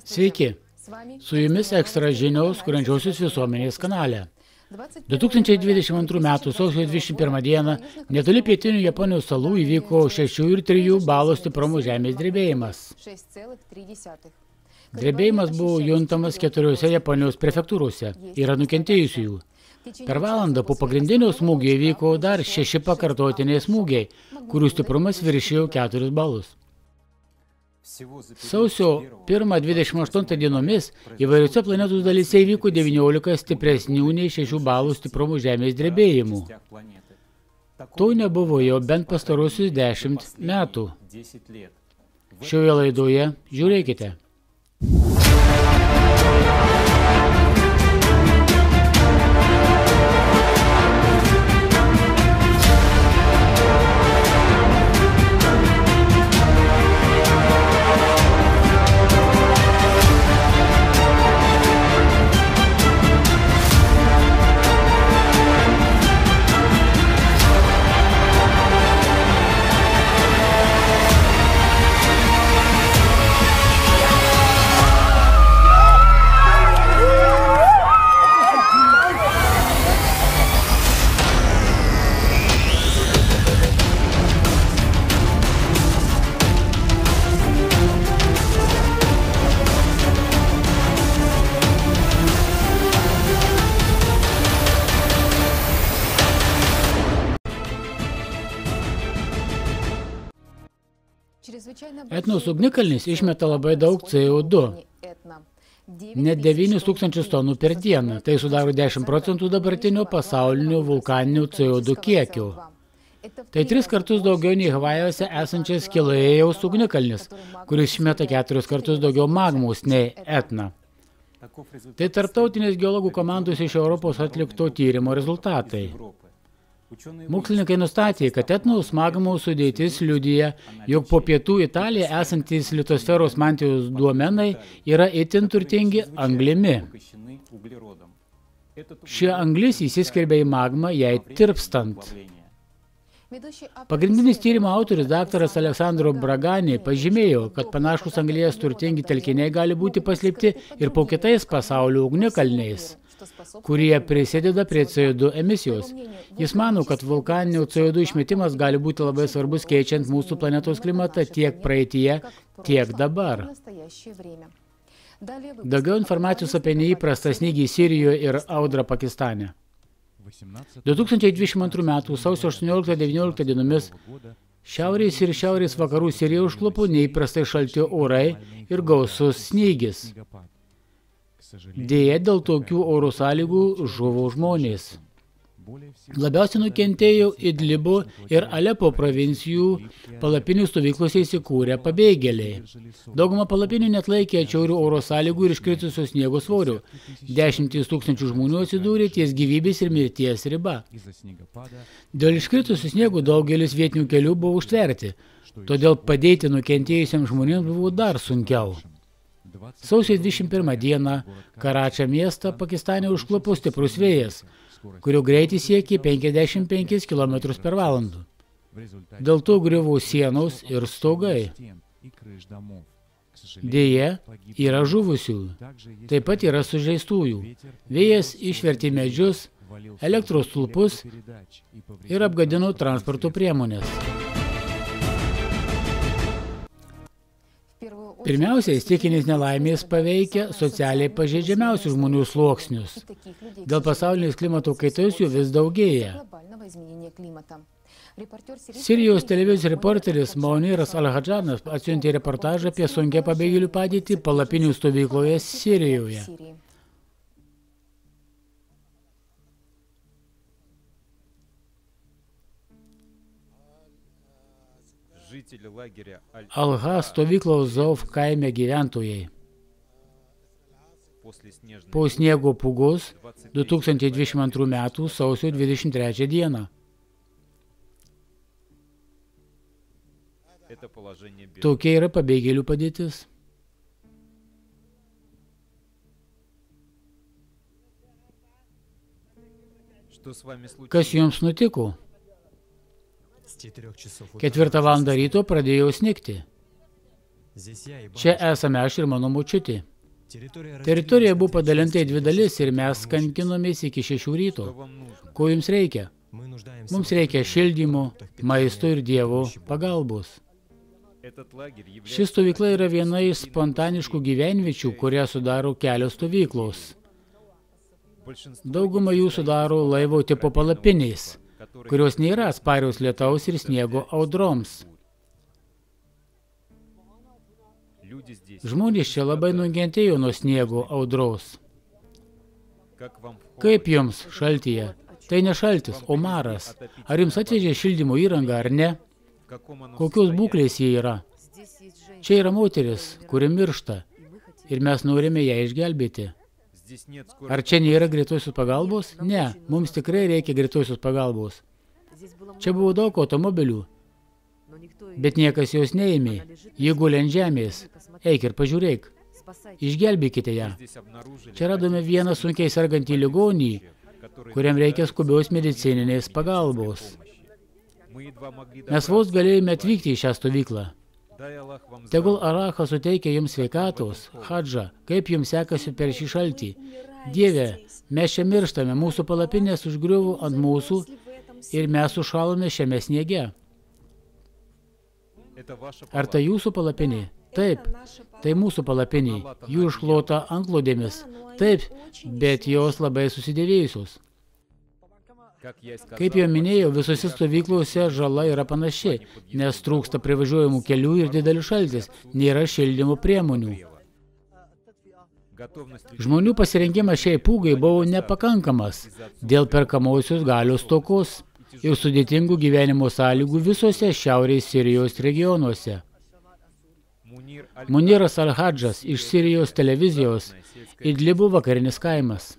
Sveiki, su jumis ekstra žinios kuriančiosios visuomenės kanale. 2022 m. sausio 21 d. netoli pietinių Japonijos salų įvyko 6,3 balų stiprumo žemės drebėjimas. Drebėjimas buvo juntamas 4 Japonijos prefektūrose, yra nukentėjusiųjų. Per valandą po pagrindinio smūgio įvyko dar 6 pakartotiniai smūgiai, kurių stiprumas viršijo 4 balus. Sausio 1-28 dienomis įvairiose planetos dalyse įvyko 19 stipresnių nei 6 balų stiprumo žemės drebėjimų. To nebuvo jau bent pastarosius 10 metų. Šioje laidoje žiūrėkite. Etnos ugnikalnis išmeta labai daug CO2, net 9000 tonų per dieną, tai sudaro 10% dabartinio pasaulinio vulkaninio CO2 kiekio. Tai 3 kartus daugiau nei Havajuose esančias Kilauejaus ugnikalnis, kuris išmeta 4 kartus daugiau magmos nei Etna. Tai tarptautinės geologų komandos iš Europos atlikto tyrimo rezultatai. Mokslininkai nustatė, kad Etnos magmos sudėtis liudija, jog po pietų Italiją esantys litosferos mantijos duomenai yra itin turtingi anglimi. Ši anglis įsiskverbia į magmą jai tirpstant. Pagrindinis tyrimo autorius daktaras Aleksandro Bragani pažymėjo, kad panašus anglies turtingi telkiniai gali būti paslėpti ir po kitais pasaulio ugnikalniais, kurie prisideda prie CO2 emisijos. Jis mano, kad vulkaninio CO2 išmetimas gali būti labai svarbus keičiant mūsų planetos klimatą tiek praeityje, tiek dabar. Daugiau informacijos apie neįprastą snygį Sirijoje ir audrą Pakistane. 2022 m. sausio 18-19 dienomis šiaurės ir šiaurės vakarų Siriją užklupo neįprastai šalti orai ir gausus snygis. Deja, dėl tokių oro sąlygų žuvo žmonės. Labiausiai nukentėjo Idlibo ir Alepo provincijų palapinių stovyklose įsikūrę pabėgėliai. Dauguma palapinių neatlaikė atšiaurių oro sąlygų ir iškritusios sniego svorio. 10 000 žmonių atsidūrė ties gyvybės ir mirties riba. Dėl iškritusių sniegų daugelis vietinių kelių buvo užtverti, todėl padėti nukentėjusiems žmonėms buvo dar sunkiau. Sausio 21 dieną Karačio miestą Pakistane užklupo stiprus vėjas, kurio greitis siekė 55 km per valandą. Dėl to griuvo sienos ir stogai. Deja, yra žuvusių, taip pat yra sužeistųjų. Vėjas išvertė medžius, elektros stulpus ir apgadino transporto priemonės. Pirmiausiai, stichinės nelaimės paveikia socialiai pažeidžiamiausių žmonių sluoksnius. Dėl pasaulinės klimato kaitos jų vis daugėja. Sirijos televizijos reporteris Mauniras Al-Hadžanas atsiuntė reportažą apie sunkią pabėgėlių padėtį palapinių stovykloje Sirijoje. Alha stovyklos Zauf kaime gyventojai. Po sniego pūgos 2022 m. sausio 23 dieną. Tokia yra pabėgėlių padėtis. Kas jums nutiko? 4 valandą ryto pradėjo snigti. Čia esame aš ir mano močiutė. Teritorija buvo padalinta į 2 dalis ir mes kankinomės iki 6 ryto. Ko jums reikia? Mums reikia šildymo, maisto ir Dievo pagalbos. Ši stovykla yra viena iš spontaniškų gyvenviečių, kurią sudaro kelios stovyklos. Dauguma jų sudaro laivo tipo palapinės, kurios nėra atsparios lietaus ir sniego audroms. Žmonės čia labai nukentėjo nuo sniego audros. Kaip jums šaltyje? Tai ne šaltis, o maras. Ar jums atvežė šildymo įrangą ar ne? Kokios būklės jie yra? Čia yra moteris, kuri miršta ir mes norime ją išgelbėti. Ar čia nėra greitosios pagalbos? Ne, mums tikrai reikia greitosios pagalbos. Čia buvo daug automobilių, bet niekas jos neėmė. Ji guli ant žemės. Eik ir pažiūrėk. Išgelbėkite ją. Čia radome vieną sunkiai sergantį ligonį, kuriam reikia skubios medicininės pagalbos. Mes vos galėjome atvykti į šią stovyklą. Tegul Alachas suteikia jums sveikatos, Hadža, kaip jums sekasi per šį šaltį. Dieve, mes čia mirštame, mūsų palapinės užgriuvo ant mūsų ir mes sušalome šiame sniege. Ar tai jūsų palapinė? Taip, tai mūsų palapinė. Jų išklota antklodėmis. Taip, bet jos labai susidėvėjusios. Kaip jau minėjau, visose stovyklose žala yra panaši, nes trūksta privažiuojamų kelių ir didelis šaltis, nėra šildymo priemonių. Žmonių pasirengimas šiai pūgai buvo nepakankamas dėl perkamosios galios stokos ir sudėtingų gyvenimo sąlygų visose šiaurės Sirijos regionuose. Muniras Al-Hadžas iš Sirijos televizijos, Idlibo vakarinis kaimas.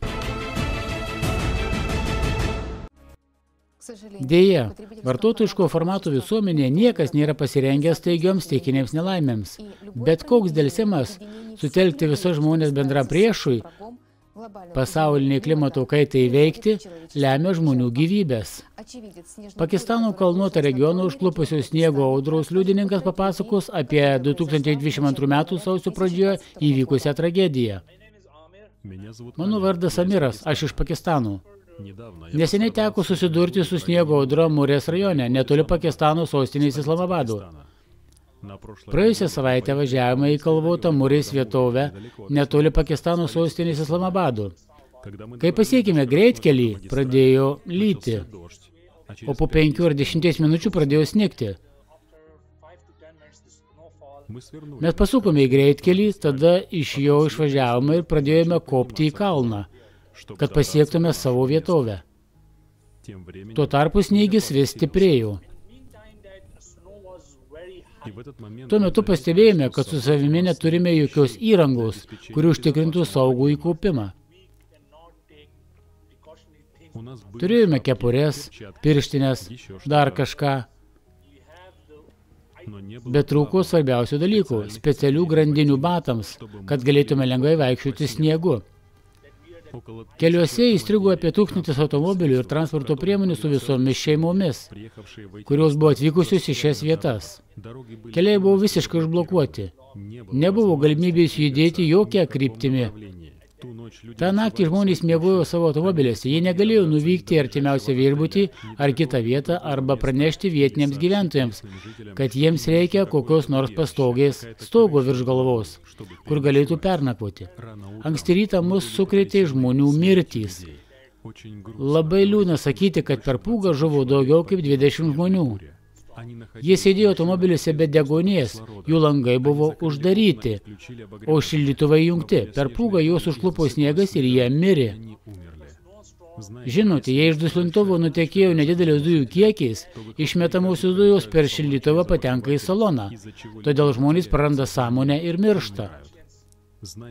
Deja, vartotojiško formato visuomenėje niekas nėra pasirengęs staigioms stichinėms nelaimėms. Bet koks delsimas sutelkti visus žmonės bendram priešui, pasauliniai klimato kaitai įveikti, lemia žmonių gyvybės. Pakistano kalnuotą regioną užklupusio sniego audros liudininkas papasakos apie 2022 metų sausio pradžioje įvykusią tragediją. Mano vardas Amiras, aš iš Pakistano. Neseniai teko susidurti su sniego audra Murės rajone, netoli Pakistano sostinės Islamabado. Praėjusią savaitę važiavome į kalvotą Murės vietovę, netoli Pakistano sostinės Islamabado. Kai pasiekime greitkelį, pradėjo lyti, o po 5 ar 10 minučių pradėjo snigti. Mes pasukome į greitkelį, tada iš jo išvažiavome ir pradėjome kopti į kalną, kad pasiektume savo vietovę. Tuo tarpu snygis vis stiprėjo. Tuo metu pastebėjome, kad su savimi neturime jokios įrangos, kuri užtikrintų saugų įkopimą. Turėjome kepures, pirštines, dar kažką, bet trūko svarbiausių dalykų – specialių grandinių batams, kad galėtume lengvai vaikščioti sniegu. Keliuose įstrigo apie 1000 automobilių ir transporto priemonių su visomis šeimomis, kurios buvo atvykusios į šias vietas. Keliai buvo visiškai užblokuoti. Nebuvo galimybės judėti jokia kryptimi. Ta naktį žmonės miegojo savo automobilėse. Jie negalėjo nuvykti artimiausią viešbutį ar kitą vietą arba pranešti vietiniams gyventojams, kad jiems reikia kokios nors pastogės stogo virš galvos, kur galėtų pernakvoti. Anksti rytą mus sukrėtė žmonių mirtys. Labai liūdna sakyti, kad per pūgą žuvo daugiau kaip 20 žmonių. Jie sėdėjo automobiliuose be degonės, jų langai buvo uždaryti, o šildytuvai jungti. Per pūgą juos užklupo sniegas ir jie mirė. Žinote, jei iš duslintuvo nutekėjo nedidelis dujų kiekiais, išmetamosios dujos per šildytuvą patenka į saloną, todėl žmonės praranda sąmonę ir miršta.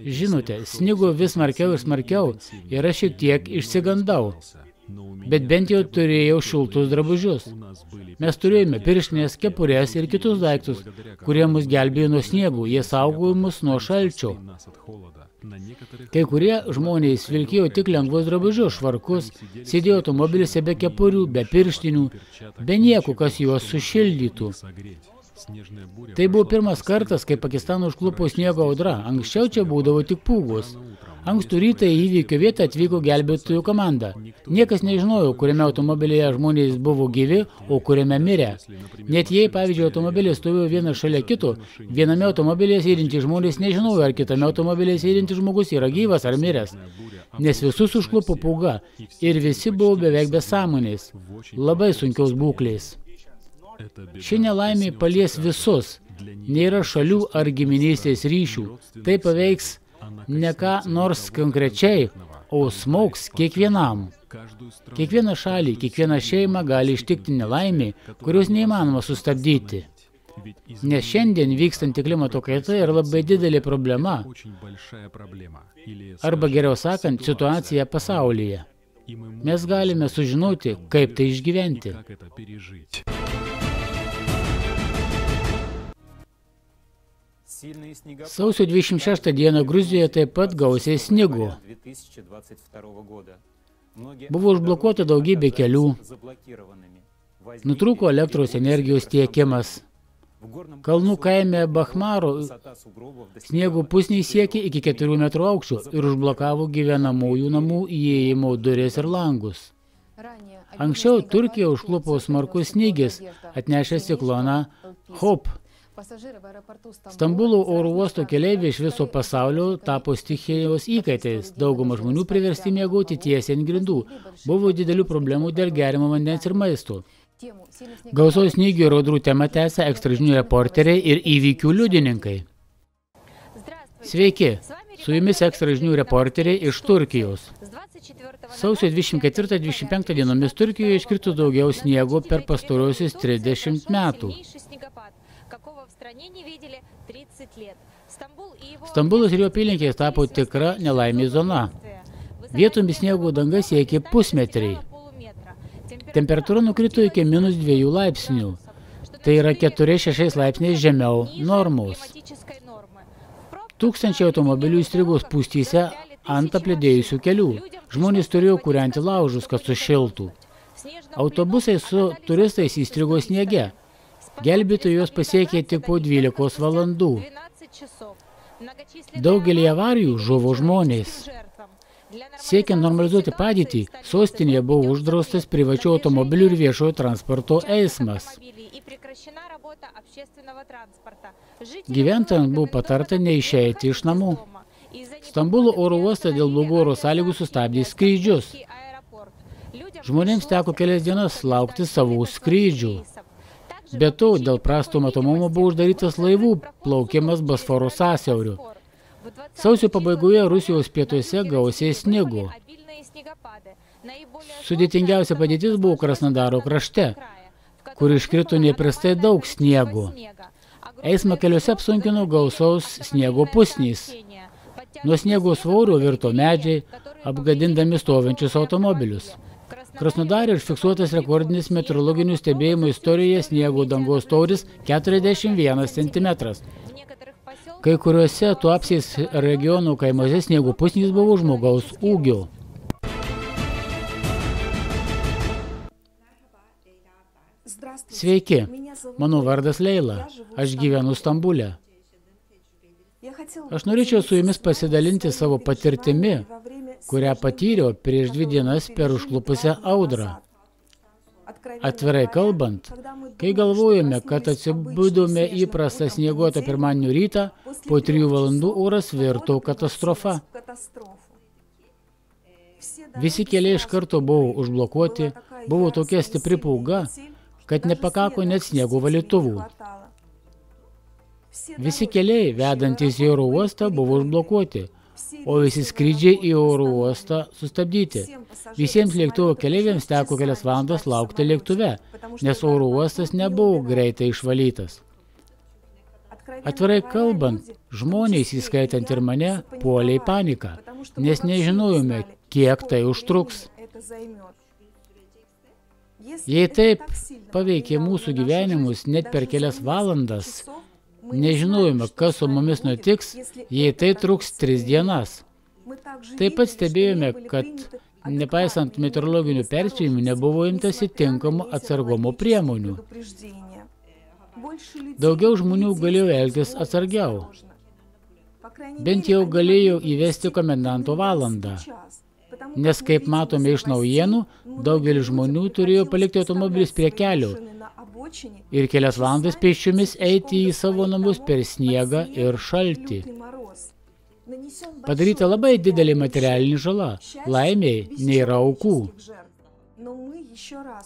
Žinote, snigo vis smarkiau ir smarkiau ir aš šiek tiek išsigandau. Bet bent jau turėjau šiltus drabužius. Mes turėjome pirštines, kepures ir kitus daiktus, kurie mus gelbėjo nuo sniegų, jie saugojo mus nuo šalčio. Kai kurie žmonės vilkėjo tik lengvus drabužius, švarkus, sėdėjo automobiliuose be kepurių, be pirštinių, be nieko, kas juos sušildytų. Tai buvo pirmas kartas, kai Pakistaną užklupo sniego audra. Anksčiau čia būdavo tik pūgos. Ankstų rytą į įvykio vietą atvyko gelbėtojų komanda. Niekas nežinojo, kuriame automobilyje žmonės buvo gyvi, o kuriame mirė. Net jei, pavyzdžiui, automobilis stovėjo vienas šalia kito, viename automobilyje sėdintys žmonės nežinojo, ar kitame automobilyje sėdintis žmogus yra gyvas ar miręs. Nes visus užklupo pūga ir visi buvo beveik be sąmonės, labai sunkios būklės. Ši nelaimė palies visus, nėra šalių ar giminystės ryšių, tai paveiks ne ką nors konkrečiai, o smogs kiekvienam. Kiekvieną šalį, kiekvieną šeimą gali ištikti nelaimė, kurios neįmanoma sustabdyti. Nes šiandien vykstanti klimato kaita yra labai didelė problema, arba geriau sakant, situacija pasaulyje. Mes galime sužinoti, kaip tai išgyventi. Sausio 26 dieną Gruzijoje taip pat gausiai snigo. Buvo užblokuota daugybė kelių, nutrūko elektros energijos tiekimas. Kalnų kaime Bakhmaro sniego pusniai siekė iki 4 metrų aukščio ir užblokavo gyvenamųjų namų įėjimo duris ir langus. Anksčiau Turkiją užklupo smarkus snygis, atnešęs cikloną Hop. Stambulo oro uosto keleiviai iš viso pasaulio tapo stichijos įkaitais. Dauguma žmonių priversti miegoti tiesiai ant grindų. Buvo didelių problemų dėl geriamo vandens ir maisto. Gausaus snygio ir audrų temą tęsia ekstražinių reporteriai ir įvykių liudininkai. Sveiki, su jumis ekstražinių reporteriai iš Turkijos. Sausio 24-25 dienomis Turkijoje iškrito daugiau sniego per pastarosius 30 metų. Stambulas ir jo apylinkės tapo tikra nelaimė zona. Vietomis sniego danga siekė pusmetriai. Temperatūra nukrito iki -2 laipsnių. Tai yra 4-6 laipsniais žemiau normos. Tūkstančiai automobilių įstrigo spūstyse ant apledėjusių kelių. Žmonės turėjo kūrenti laužus, kad sušiltų. Autobusai su turistais įstrigo sniege. Gelbėtojai juos pasiekė tik po 12 valandų. Daugelį avarijų žuvo žmonės. Siekiant normalizuoti padėtį, sostinėje buvo uždraustas privačių automobilių ir viešojo transporto eismas. Gyventojams buvo patarta neišeiti iš namų. Stambulo oro uostas dėl blogų oro sąlygų sustabdė skrydžius. Žmonėms teko kelias dienas laukti savų skrydžių. Be to, dėl prasto matomumo buvo uždarytas laivų plaukimas Bosforo sąsiauriu. Sausio pabaigoje Rusijos pietuose gausiai snigo. Sudėtingiausia padėtis buvo Krasnodaro krašte, kur iškrito neįprastai daug sniego. Eismą keliuose apsunkino gausaus sniego pusnys. Nuo sniego svorio virto medžiai, apgadindami stovinčius automobilius. Krasnodare užfiksuotas rekordinis meteorologinių stebėjimų istorijoje sniego dangos storis 41 cm. Kai kuriuose Tuapsės regionų kaimuose sniego pusnys buvo žmogaus ūgio. Sveiki, mano vardas Leila, aš gyvenu Stambule. Aš norėčiau su jumis pasidalinti savo patirtimi, kurią patyriau prieš 2 dienas per užklupusią audrą. Atvirai kalbant, kai galvojame, kad atsibudome įprastą snieguotą pirmadienio rytą, po 3 valandų oras virto katastrofa. Visi keliai iš karto buvo užblokuoti, buvo tokia stipri pūga, kad nepakako net sniego valytuvų. Visi keliai, vedantys į oro uostą, buvo užblokuoti, o visi skrydžiai į oro uostą sustabdyti. Visiems lėktuvo keleiviams teko kelias valandas laukti lėktuve, nes oro uostas nebuvo greitai išvalytas. Atvirai kalbant, žmonės, įskaitant ir mane, puolė į paniką, nes nežinojome, kiek tai užtruks. Jei taip paveikė mūsų gyvenimus net per kelias valandas, nežinojome, kas su mumis nutiks, jei tai truks 3 dienas. Taip pat stebėjome, kad nepaisant meteorologinių perspėjimų nebuvo imtasi tinkamų atsargumo priemonių. Daugiau žmonių galėjo elgtis atsargiau. Bent jau galėjo įvesti komendanto valandą. Nes, kaip matome iš naujienų, daugelis žmonių turėjo palikti automobilius prie kelio ir kelias valandas pėsčiomis eiti į savo namus per sniegą ir šaltį. Padaryta labai didelė materialinė žala. Laimei nėra aukų.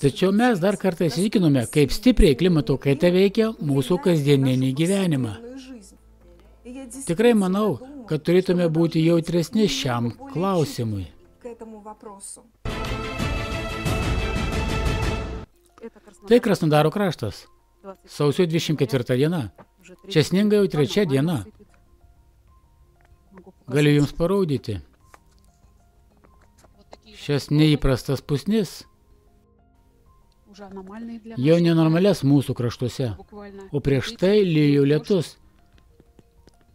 Tačiau mes dar kartą įsitikinome, kaip stipriai klimato kaita veikia mūsų kasdieninį gyvenimą. Tikrai manau, kad turėtume būti jautresni šiam klausimui. Tai Krasnodaro kraštas. Sausio 24 diena. Čia sninga jau 3 diena. Galiu jums parodyti. Šias neįprastas pusnis jau nenormalias mūsų kraštuose, o prieš tai lijo lietus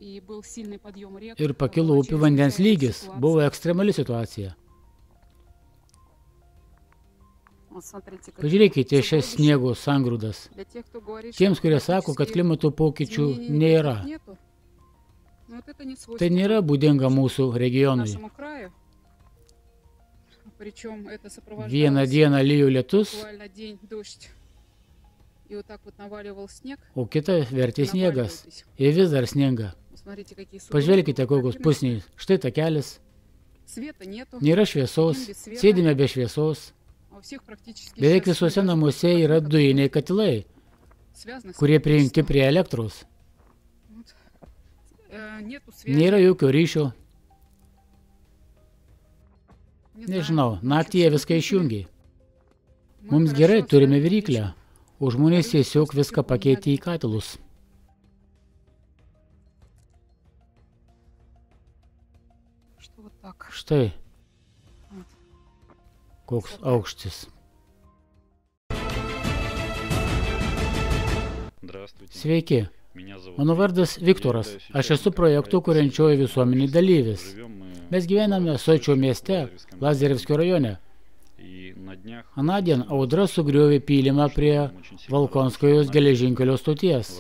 ir pakilo upių vandens lygis. Buvo ekstremali situacija. Pažiūrėkite šias sniego sangrūdas. Tiems, kurie sako, kad klimato pokyčių nėra. Tai nėra būdinga mūsų regionui. Vieną dieną lijo lietus, o kitą vertė sniegas. Ir vis dar sninga. Pažvelkite, kokios pusniai. Štai takelis. Nėra šviesos, sėdime be šviesos. Beveik visuose namuose yra dujiniai katilai, kurie prijungti prie elektros. Nėra jokio ryšio. Nežinau, naktį jie viską išjungia. Mums gerai, turime viryklę, o žmonės tiesiog viską pakeitė į katilus. Štai, koks aukštis. Sveiki, mano vardas Viktoras. Aš esu projektų kuriančioji visuomenė dalyvis. Mes gyvename Sočio mieste, Lazarevskio rajone. Anądien audra sugriovė pylimą prie Volkonskojos geležinkelio stoties.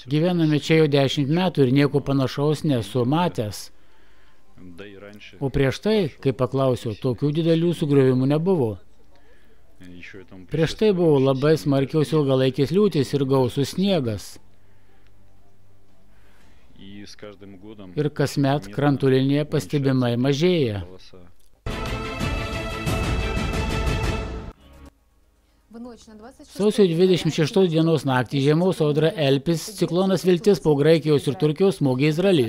Gyvename čia jau 10 metų ir nieko panašaus nesu matęs. O prieš tai, kai paklausiau, tokių didelių sugriovimų nebuvo. Prieš tai buvo labai smarkiaus ilgalaikės liūtys ir gausus sniegas. Ir kasmet krantų linija pastebimai mažėja. Sausio 26 dienos naktį žiemos audra Elpis, ciklonas Viltis po Graikijos ir Turkijos smogė Izraelį.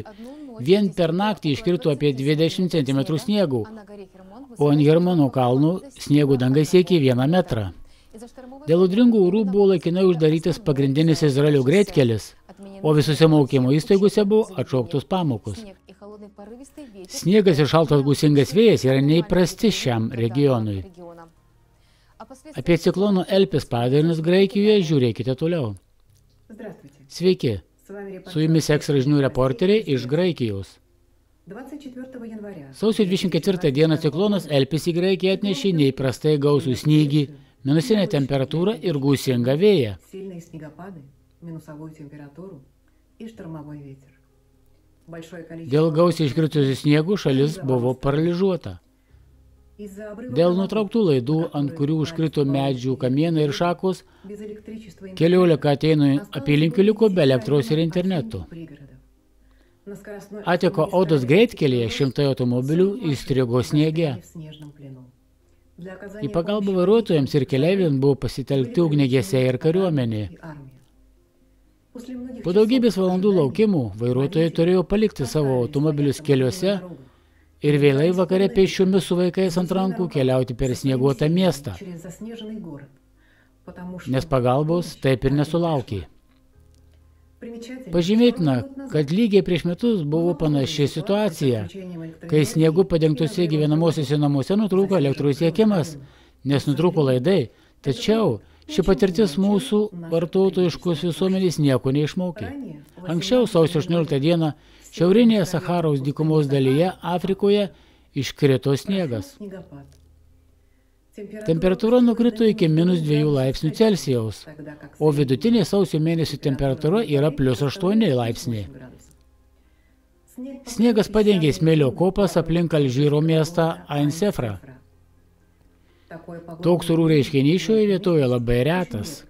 Vien per naktį iškrito apie 20 cm sniegų, o ant Hermono kalnų sniego danga siekė 1 metrą. Dėl audringų orų buvo laikinai uždarytas pagrindinis Izraelio greitkelis, o visose mokymo įstaigose buvo atšauktos pamokos. Sniegas ir šaltas gūsingas vėjas yra neįprasti šiam regionui. Apie ciklono Elpis padarinius Graikijoje žiūrėkite toliau. Sveiki, su jumis ekstra žinių reporteriai iš Graikijos. Sausio 24 dieną ciklonas Elpis į Graikiją atnešė neįprastai gausų snygį, minusinę temperatūrą ir gūsingą vėją. Dėl gausiai iškritusių sniegų šalis buvo paralyžiuota. Dėl nutrauktų laidų, ant kurių užkrito medžių kamienai ir šakos, 14 Atėnų apylinkių liko be elektros ir interneto. Atiko Odos greitkelyje 100 automobilių įstrigo sniege. Į pagalbą vairuotojams ir keleiviams buvo pasitelkti ugniagesiai ir kariuomenė. Po daugybės valandų laukimų vairuotojai turėjo palikti savo automobilius keliuose ir vėlai vakare pėsčiomis su vaikais ant rankų keliauti per snieguotą miestą, nes pagalbos taip ir nesulaukė. Pažymėtina, kad lygiai prieš metus buvo panaši situacija, kai sniegu padengtose gyvenamosiuose namuose nutrūko elektros tiekimas, nes nutrūko laidai, tačiau ši patirtis mūsų vartotojiškos visuomenės nieko neišmokė. Anksčiau, sausio 18 dieną, šiaurinėje Sacharos dykumos dalyje Afrikoje iškrito sniegas. Temperatūra nukrito iki -2 laipsnių Celsijaus, o vidutinė sausio mėnesio temperatūra yra +8 laipsniai. Sniegas padengė smėlio kopas aplink Alžyro miestą Ain Sefrą. Toks orų reiškinys šioje vietoje labai retas.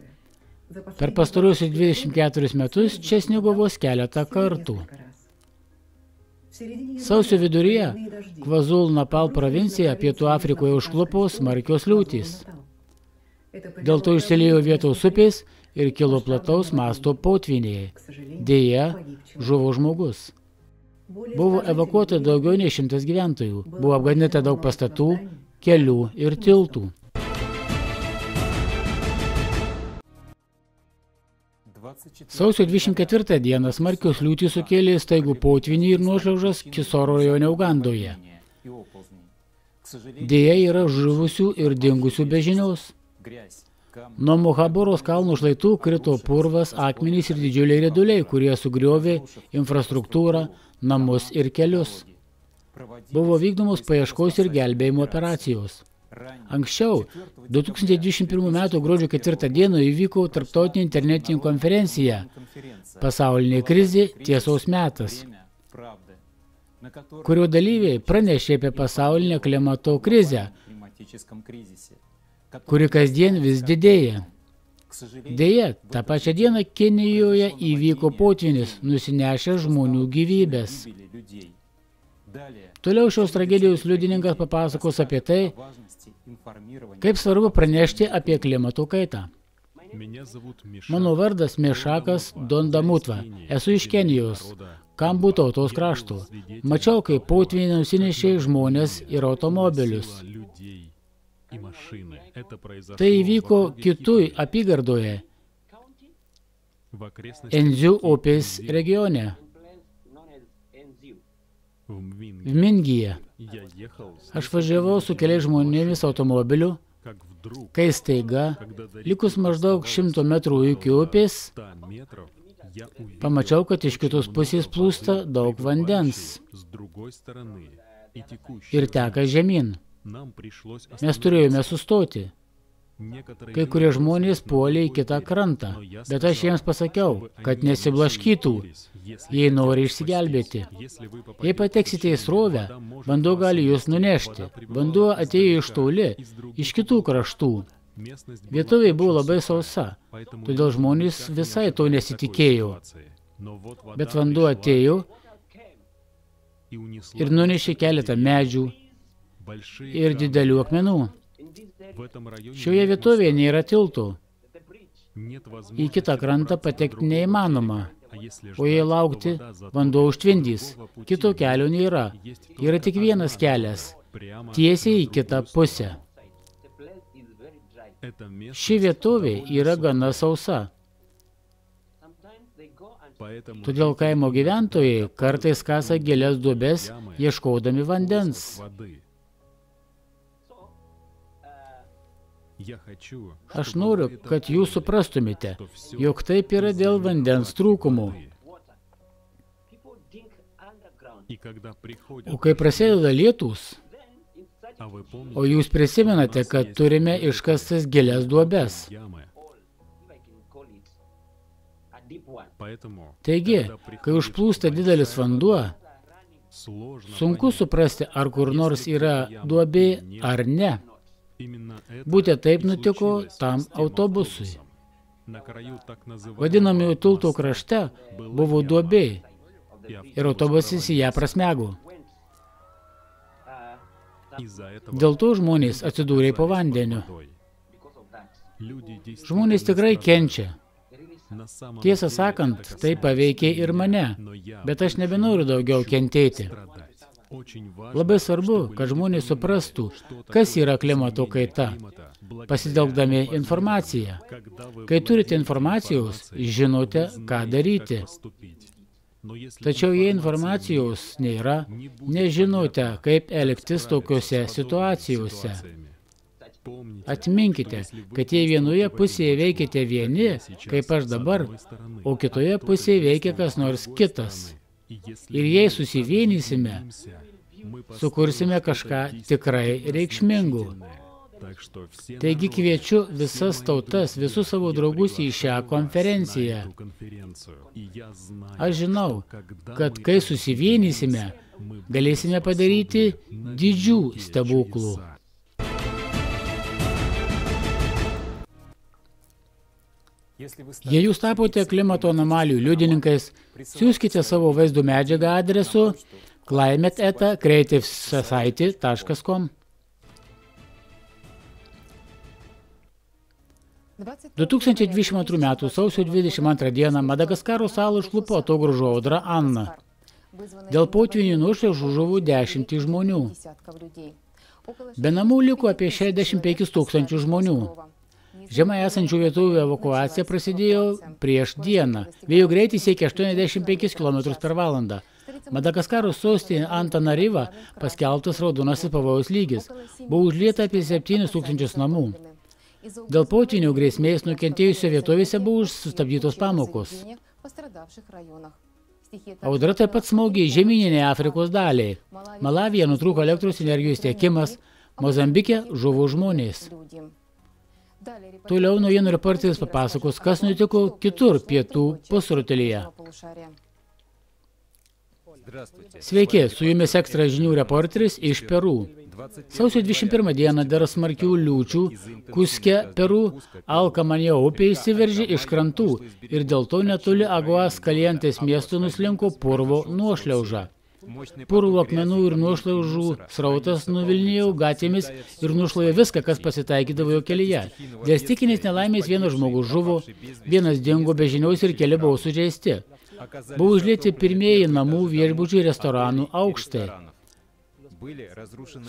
Per pastaruosius 24 metus čia snigo vos keletą kartų. Sausio viduryje Kvazul Napal provincija Pietų Afrikoje užklupo smarkios liūtys. Dėl to išsiliejo vietos upės ir kilo plataus masto potvyniai. Deja, žuvo žmogus. Buvo evakuota daugiau nei 100 gyventojų. Buvo apgadinta daug pastatų, kelių ir tiltų. Sausio 24 dieną smarkios liūtys sukėlė staigų potvynį ir nuošliaužas Kisoro rajone Ugandoje. Deja, yra žuvusių ir dingusių be žinios. Nuo Mohaboros kalnų šlaitų krito purvas, akmenys ir didžiuliai rieduliai, kurie sugriovė infrastruktūrą, namus ir kelius. Buvo vykdomos paieškos ir gelbėjimo operacijos. Anksčiau, 2021 m. gruodžio 4 d. įvyko tarptautinė internetinė konferencija Pasaulinė krizė – tiesos metas, kurio dalyviai pranešė apie pasaulinę klimato krizę, kuri kasdien vis didėja. Deja, tą pačią dieną Kenijoje įvyko potvynis, nusinešęs žmonių gyvybės. Toliau šios tragedijos liudininkas papasakos apie tai, kaip svarbu pranešti apie klimato kaitą. Mano vardas Mešakas Dondamutva. Esu iš Kenijos, Kambų tautos krašto. Mačiau, kaip potvyniai nusinešė žmonės ir automobilius. Tai įvyko Kitui apygardoje, Enziu upės regione, Vmingyje. Aš važiavau su keliais žmonėmis automobiliu, kai staiga, likus maždaug 100 metrų iki upės, pamačiau, kad iš kitos pusės plūsta daug vandens ir teka žemyn. Mes turėjome sustoti. Kai kurie žmonės puolė į kitą krantą, bet aš jiems pasakiau, kad nesiblaškytų, jei nori išsigelbėti. Jei pateksite į srovę, vanduo gali jūs nunešti. Vanduo atėjo iš toli, iš kitų kraštų. Vietovė buvo labai sausa, todėl žmonės visai to nesitikėjo. Bet vanduo atėjo ir nunešė keletą medžių ir didelių akmenų. Šioje vietovėje nėra tiltų. Į kitą krantą patekti neįmanoma, o jei laukti, vanduo užtvindys. Kito kelio nėra. Yra tik vienas kelias, tiesiai į kitą pusę. Ši vietovė yra gana sausa. Todėl kaimo gyventojai kartais kasa gilias duobes, ieškodami vandens. Aš noriu, kad jūs suprastumėte, jog taip yra dėl vandens trūkumų. O kai prasideda lietūs, o jūs prisimenate, kad turime iškastas gilias duobes. Taigi, kai užplūsta didelis vanduo, sunku suprasti, ar kur nors yra duobė ar ne. Būtent taip nutiko tam autobusui. Vadinamųjų tiltų krašte buvo duobė ir autobusas į ją prasmego. Dėl to žmonės atsidūrė po vandeniu. Žmonės tikrai kenčia. Tiesą sakant, tai paveikė ir mane, bet aš nebenoriu daugiau kentėti. Labai svarbu, kad žmonės suprastų, kas yra klimato kaita, pasitelkdami informaciją. Kai turite informacijos, žinote, ką daryti. Tačiau jei informacijos nėra, nežinote, kaip elgtis tokiuose situacijose. Atminkite, kad jei vienoje pusėje veikiate vieni, kaip aš dabar, o kitoje pusėje veikia kas nors kitas. Ir jei susivienysime, sukursime kažką tikrai reikšmingų. Taigi kviečiu visas tautas, visus savo draugus į šią konferenciją. Aš žinau, kad kai susivienysime, galėsime padaryti didžių stebuklų. Jei jūs tapote klimato anomalijų liudininkais, siųskite savo vaizdo medžiagą adresu climate@creativesociety.com. 2022 m. sausio 22 d. Madagaskaro salą užklupo atogrąžų audra Anna. Dėl potvynių nuošliaužų žuvo 10 žmonių. Be namų liko apie 65 000 žmonių. Žemai esančių vietovių evakuacija prasidėjo prieš dieną. Vėjo greitis siekia 85 km/h. Madagaskaro sostinė Antananariva paskelbtas raudonasis pavojaus lygis. Buvo užlieta apie 7 000 namų. Dėl potvynių grėsmės nukentėjusiose vietovėse buvo sustabdytos pamokos. Audra taip pat smogė į žemyninę Afrikos dalį. Malavyje nutrūko elektros energijos tiekimas, Mozambike žuvo žmonės. Toliau naujienų reporteris papasakos, kas nutiko kitur pietų pusrutulyje. Sveiki, su jumis ekstra žinių reporteris iš Peru. Sausio 21 dieną dėl smarkių liūčių Kuske, Peru, Alkamanjo upė išsiveržė iš krantų ir dėl to netoli Aguas Kalientės miesto nuslinko purvo nuošliauža. Purvo akmenų ir nuošliaužų srautas nuvilnijo gatvėmis ir nušlavė viską, kas pasitaikydavo jo kelyje. Dėl stichinės nelaimės vienas žmogus žuvo, vienas dingo be žinios ir keli buvo sužeisti. Buvo užlieti pirmieji namų, viešbučių ir restoranų aukštai.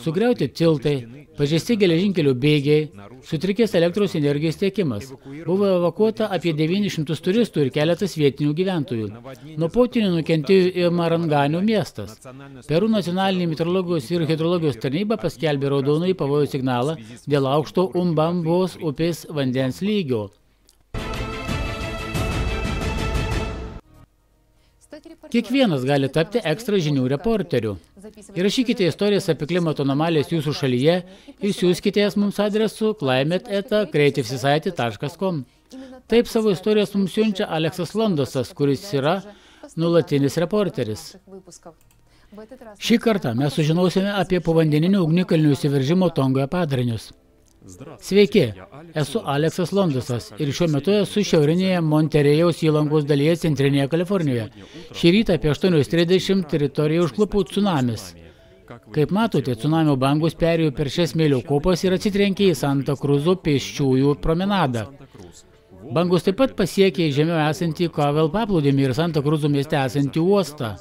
Sugriauti tiltai, pažeisti geležinkelio bėgiai, sutrikęs elektros energijos tiekimas. Buvo evakuota apie 900 turistų ir keletas vietinių gyventojų. Nuo potvynių nukentėjo ir Maranganio miestas. Peru nacionalinė meteorologijos ir hidrologijos tarnyba paskelbė raudonąjį pavojaus signalą dėl aukšto Umbambos upės vandens lygio. Kiekvienas gali tapti ekstra žinių reporteriu. Įrašykite istorijas apie klimato anomalijas jūsų šalyje ir siųskite jas mums adresu climate@creativesociety.com. Taip savo istorijas mums siunčia Aleksas Londosas, kuris yra nuolatinis reporteris. Šį kartą mes sužinosime apie povandeninio ugnikalnių įsiveržimo Tongoje padarinius. Sveiki, esu Aleksas Londosas ir šiuo metu esu šiaurinėje Monterėjaus įlankos dalyje centrinėje Kalifornijoje. Šį rytą apie 8:30 teritoriją užklupo tsunamis. Kaip matote, tsunamio bangos perėjo per šias smėlio kopas ir atsitrenkė į Santa Cruzo pėsčiųjų promenadą. Bangos taip pat pasiekė žemiau esantį Kavel paplūdimį ir Santa Cruzo mieste esantį uostą.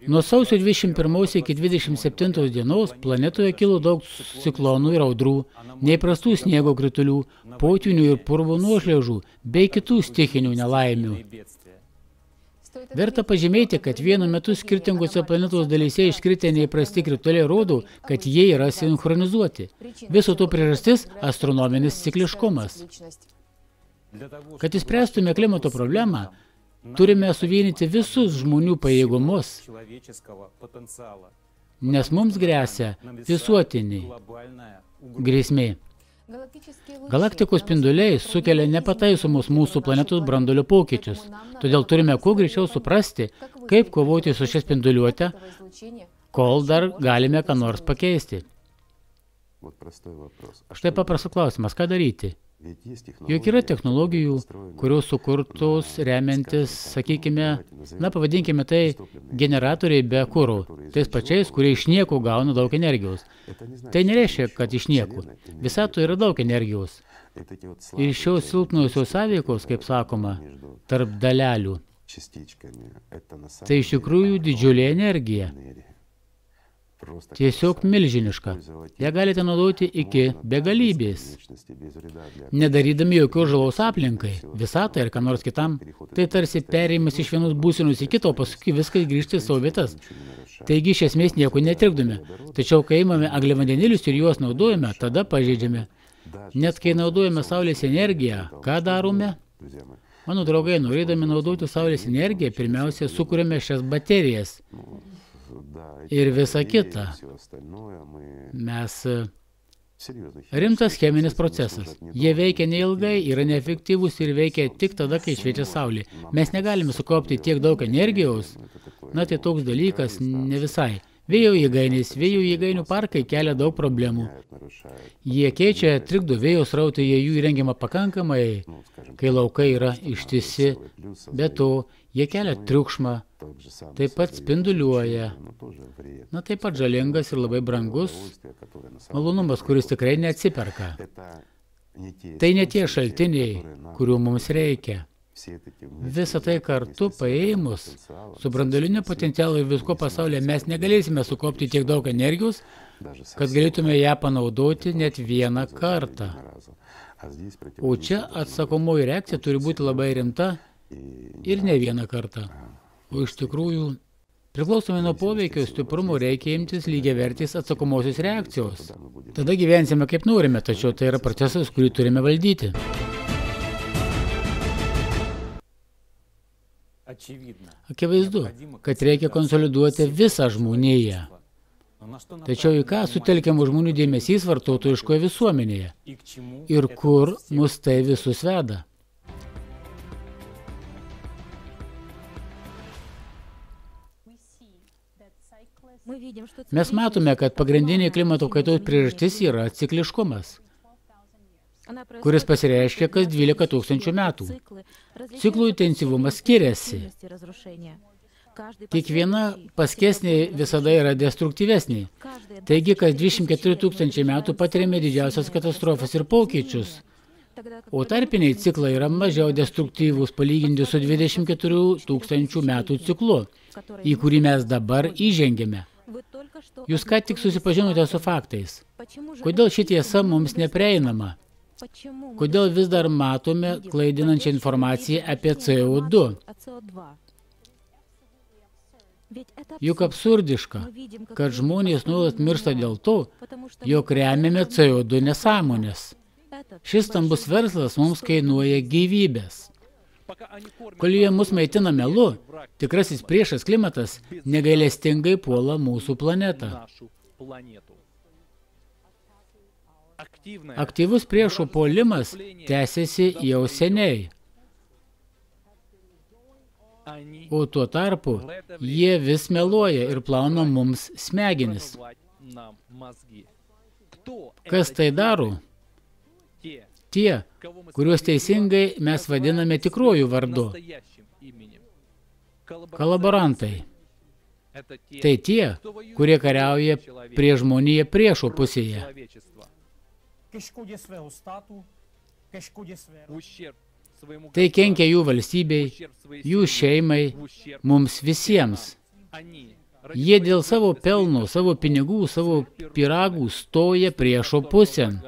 Nuo sausio 21 iki 27 dienos planetoje kilo daug ciklonų ir audrų, neįprastų sniego kritulių, potvynių ir purvo nuošliaužų bei kitų stichinių nelaimių. Verta pažymėti, kad vienu metu skirtingose planetos dalyse iškritę neįprasti krituliai rodo, kad jie yra sinchronizuoti. Viso to priežastis – astronominis cikliškumas. Kad išspręstume klimato problemą, turime suvienyti visus žmonių pajėgumus, nes mums gresia visuotiniai grėsmė. Galaktikos spinduliai sukelia nepataisomus mūsų planetos branduolio pokyčius, todėl turime kuo greičiau suprasti, kaip kovoti su šia spinduliuote, kol dar galime ką nors pakeisti. Štai paprastas klausimas, ką daryti? Juk yra technologijų, kurios sukurtos remiantis, sakykime, pavadinkime tai generatoriai be kuro, tais pačiais, kurie iš nieko gauna daug energijos. Tai nereiškia, kad iš nieko. Visatoje yra daug energijos. Ir šios silpnosios sąveikos, kaip sakoma, tarp dalelių, tai iš tikrųjų didžiulė energija. tiesiog milžiniška. Ją galite naudoti iki begalybės, nedarydami jokios žalos aplinkai, visatai ar ką nors kitam. Tai tarsi perėjimas iš vienos būsenos į kitą, o paskui viskas grįžti į savo vietas. Taigi iš esmės nieko netrikdome. Tačiau kai imame angliavandenilius ir juos naudojame, tada pažeidžiame. Net kai naudojame saulės energiją, ką darome? Mano draugai, norėdami naudoti saulės energiją, pirmiausia, sukūrėme šias baterijas ir visą kitą. Mes rimtas cheminis procesas. Jie veikia neilgai, yra neefektyvūs ir veikia tik tada, kai šviečia saulė. Mes negalime sukaupti tiek daug energijos. Na, tai toks dalykas ne visai. Vėjo jėgainių parkai kelia daug problemų. Jie keičia, trikdo vėjo srautai, jų įrengiama pakankamai, kai laukai yra ištisi, be to jie kelia triukšmą, taip pat spinduliuoja. Na, taip pat žalingas ir labai brangus malonumas, kuris tikrai neatsiperka. Tai ne tie šaltiniai, kurių mums reikia. Visą tai kartu paėmus, su branduoliniu potencialu ir visko pasaulyje mes negalėsime sukaupti tiek daug energijos, kad galėtume ją panaudoti net vieną kartą. O čia atsakomoji reakcija turi būti labai rimta ir ne vieną kartą. O iš tikrųjų, priklausomai nuo poveikio stiprumo reikia imtis lygiavertės atsakomosios reakcijos. Tada gyvensime kaip norime, tačiau tai yra procesas, kurį turime valdyti. Akivaizdu, kad reikia konsoliduoti visą žmoniją. Tačiau į ką sutelkiamų žmonių dėmesys vartotojiškoje visuomenėje? Ir kur mus tai visus veda? Mes matome, kad pagrindinė klimato kaitos priežastis yra cikliškumas, kuris pasireiškia kas 12 000 metų. Ciklų intensyvumas skiriasi. Kiekviena paskesnė visada yra destruktyvesnė. Taigi, kas 24 000 metų patiriame didžiausias katastrofas ir pokyčius. O tarpiniai ciklai yra mažiau destruktyvūs palyginti su 24 000 metų ciklu, į kurį mes dabar įžengėme. Jūs ką tik susipažinote su faktais. Kodėl ši tiesa mums neprieinama? Kodėl vis dar matome klaidinančią informaciją apie CO2? Juk absurdiška, kad žmonės nuolat miršta dėl to, jog remiame CO2 nesąmonės. Šis stambus verslas mums kainuoja gyvybės. Kol jie mus maitina melu, tikrasis priešas klimatas negailestingai puola mūsų planetą. Aktyvus priešų puolimas tęsiasi jau seniai. O tuo tarpu jie vis meluoja ir plauna mums smegenis. Kas tai daro? Tie, kuriuos teisingai mes vadiname tikruoju vardu. Kolaborantai. Tai tie, kurie kariauja prie žmoniją priešo pusėje. Tai kenkia jų valstybei, jų šeimai, mums visiems. Jie dėl savo pelno, savo pinigų, savo pyragų stoja priešo pusėn.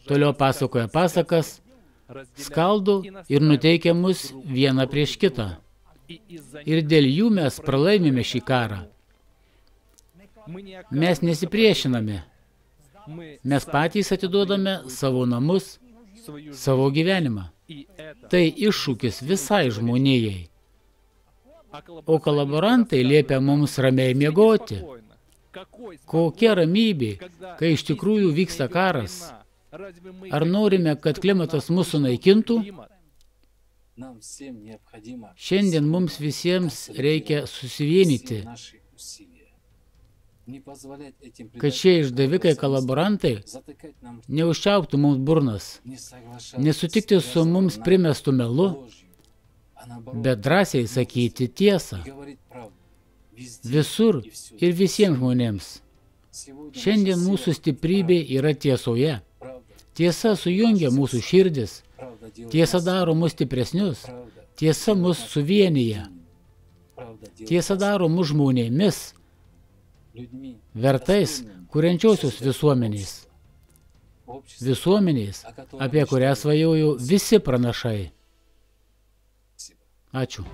Toliau pasakoja pasakas, skaldo ir nuteikia mus vieną prieš kitą. Ir dėl jų mes pralaimime šį karą. Mes nesipriešiname. Mes patys atiduodame savo namus, savo gyvenimą. Tai iššūkis visai žmonijai. O kolaborantai liepia mums ramiai miegoti. Kokia ramybė, kai iš tikrųjų vyksta karas? Ar norime, kad klimatas mūsų naikintų? Šiandien mums visiems reikia susivienyti, kad šie išdavikai kolaborantai neužčiauptų mums burnas, nesutikti su mums primestu melu, bet drąsiai sakyti tiesą. Visur ir visiems žmonėms. Šiandien mūsų stiprybė yra tiesoje. Tiesa sujungia mūsų širdis. Tiesa daro mus stipresnius. Tiesa mus suvienyje. Tiesa daro mus žmonėmis. vertais kuriančiosios visuomenės. Visuomenės, apie kurią svajojo visi pranašai. Ačiū.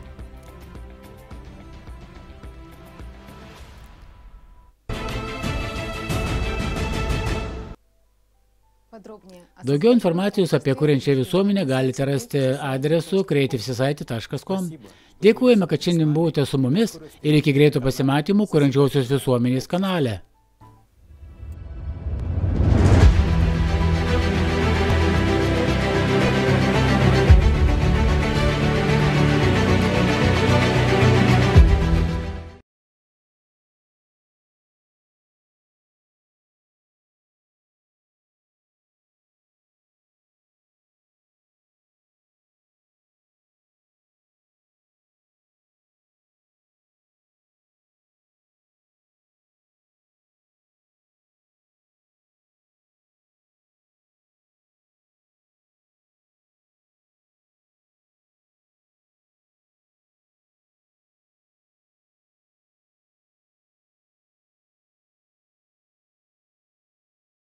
Daugiau informacijos apie kuriančią visuomenę galite rasti adresu creativesociety.com. Dėkojame, kad šiandien buvote su mumis ir iki greito pasimatymų kuriančiosios visuomenės kanale.